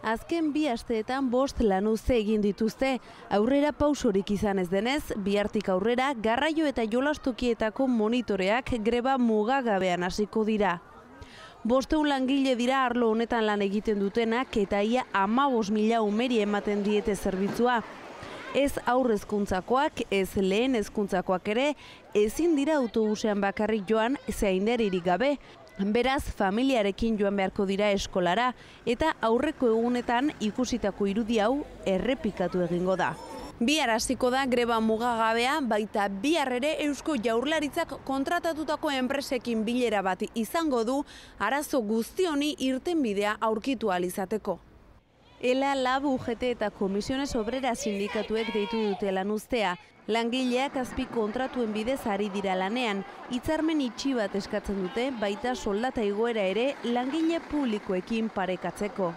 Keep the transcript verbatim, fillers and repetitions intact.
Azken bi asteetan bost lanuzte egin dituzte. Aurrera pausorik izan ez denez, bihartik aurrera garraio eta jolastokietako monitoreak greba mugagabean hasiko dira. Bostehun langile dira arlo honetan lan egiten dutenak eta ia hamabost mila umeri ematen diete zerbitzua. Ez aurre hezkuntzakoak, ez lehen hezkuntzakoak ere, ezin dira autobusean bakarrik joan zaindaririk gabe. Beraz, familiarekin joan beharko dira eskolara eta aurreko egunetan ikusitako irudi hau errepikatu egingo da. Bihar hasiko da greba mugagabea, baita bihar ere Eusko Jaurlaritzak kontratatutako enpresekin bilera bat izango du arazo guzti honi irtenbidea aurkitu ahal izateko. Ela, Lab, U G T eta Komisiones Obrera sindikatuek deitu dute lanuztea. Langileak azpi kontratuen bidez ari dira lanean, hitzarmen itxi bat eskatzen dute, baita soldata igoera ere langile publikoekin parekatzeko.